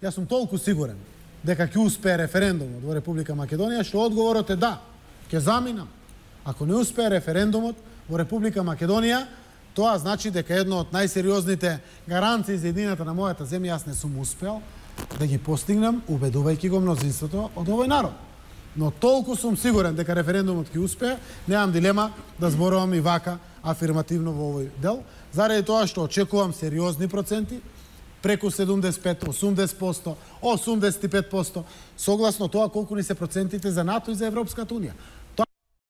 Јас сум толку сигурен дека ќе успее референдумот во Република Македонија, што одговорот е да, ќе заминам. Ако не успее референдумот во Република Македонија, тоа значи дека едно од најсериозните гаранции за едината на мојата земја јас не сум успеал да ги постигнам, убедувајќи го мнозинството од овој народ. Но толку сум сигурен дека референдумот ќе успее, немам дилема да зборувам и вака афирмативно во овој дел, заради тоа што очекувам сериозни проценти, преку 75, 80%, 85%, согласно тоа колку ни се процентите за НАТО и за Европската Унија.